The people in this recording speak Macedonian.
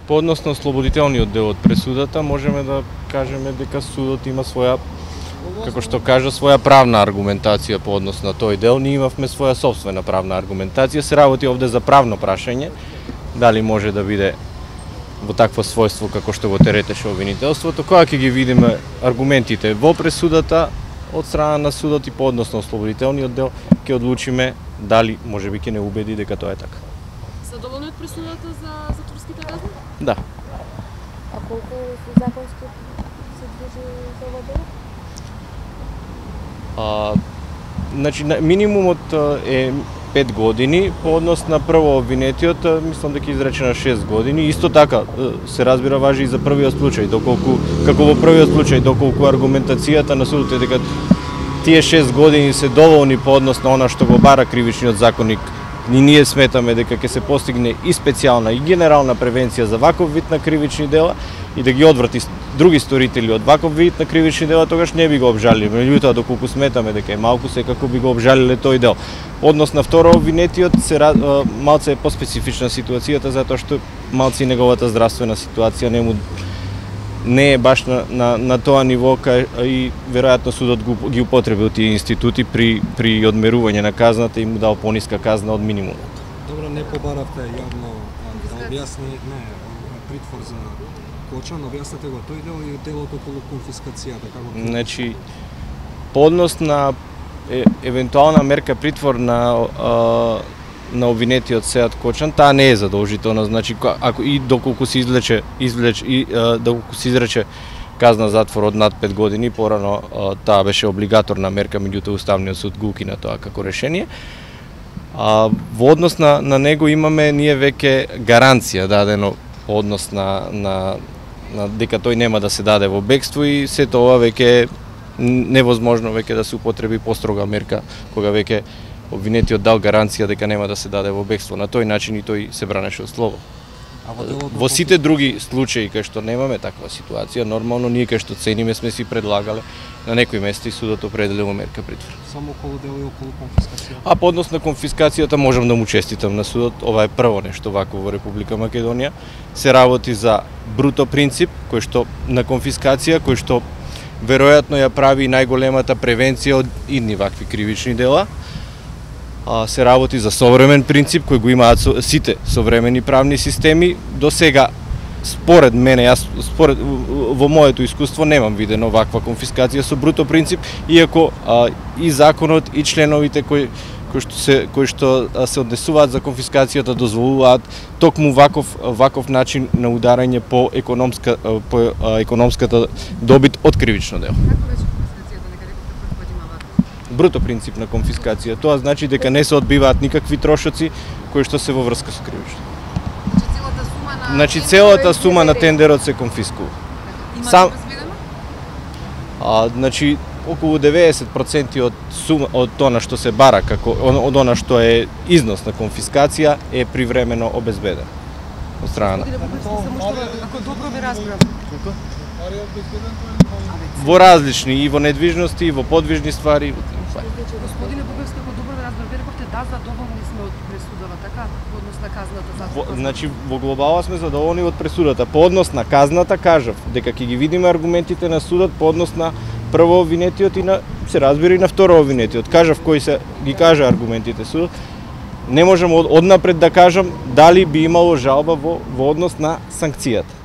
По однос на ослободителниот дел од пресудата, можеме да кажеме дека судот има своја, како што кажа, своја правна аргументација по однос на тој дел. Ние имавме своја собствена правна аргументација. Се работи овде за правно прашање, дали може да биде во такво својство како што го теретеше обвинителството. Кога ќе ги видиме аргументите во пресудата од страна на судот и по однос на ослободителниот дел, ќе одлучиме дали можеби ќе не убеди дека тоа е така. Задоволни од пресудата за затворските казни? Да. А колку законски се движи за ова дело? Значи, минимумот е 5 години, по однос на прво обвинетиот, мислам дека изрече на 6 години. Исто така, се разбира, важи и за првиот случај, доколку, како во првиот случај, доколку аргументацијата на судот е дека тие 6 години се доволни по однос на она што го бара кривичниот законник. И ние сметаме дека ќе се постигне и специјална и генерална превенција за ваков вид на кривични дела и да ги одврати други сторители од ваков вид на кривични дела, тогаш не би го обжалиле. Меѓутоа, доколку сметаме дека е малку, секако би го обжалиле тој дел. Однос на второ обвинетиот малце е поспецифична ситуацијата, затоа што малце и неговата здравствена ситуација не е баш на тоа ниво, и веројатно судот ги употребил тие институти при одмерување на казната и му дал пониска казна од минимумот. Добро, не побаравте јавно да објасни притвор за Кочан, објаснете го тој дел и делот околу конфискацијата, како? Значи, по однос на евентуална мерка притвор на обвинетиот Сеат Кочан, таа не е задолжителна, значи ако и доколку се доколку се изрече казна затвор од над 5 години, порано таа беше облигаторна мерка, меѓутоа Уставниот суд го укина тоа како решение. Во однос на него имаме ние веќе гаранција дадено по однос на дека тој нема да се даде во бегство и сето ова веќе невозможно веќе да се употреби построга мерка кога веќе обвинетиот дал гаранција дека нема да се даде во бегство. На тој начин и тој се бранеше од слово. Во сите други случаи кај што немаме таква ситуација, нормално ние кај што цениме сме си предлагале на некои места и судот определило мерка притвор. Само околу дел и околу конфискација. А по однос на конфискацијата можам да му честитам на судот, ова е прво нешто вакво во Република Македонија. Се работи за бруто принцип кој што на конфискација, кој што веројатно ја прави најголемата превенција од идни вакви кривични дела. Се работи за современ принцип кој го имаат сите современи правни системи. До сега, според мене, во моето искуство немам видено ваква конфискација со бруто принцип, иако и законот и членовите кои што се однесуваат за конфискацијата дозволуваат токму ваков начин на ударање по економската добит од кривично дело. Бруто принцип на конфискација. Тоа значи дека не се одбиваат никакви трошоци кои што се во врска со кривично. Значи целата сума на тендерот се конфискува. Има Значи околу 90% од тоа што се бара како од она што е износ на конфискација е привремено обезбедено од страна. Ако добро ви разбирам. Во различни и во недвижности и во подвижни ствари. Господине Бугарски, ако добро ви разбирам, рековте да, задоволни сме од пресудава, така, во однос на казната за. Значи во глобала сме задоволни од пресудата. По однос на казната кажав дека ќе ги видиме аргументите на судот по однос на прво обвинетиот и се разбира и на второ обвинетиот. Кажав кои се ги кажа аргументите судот. Не можам однапред да кажам дали би имало жалба во однос на санкцијата.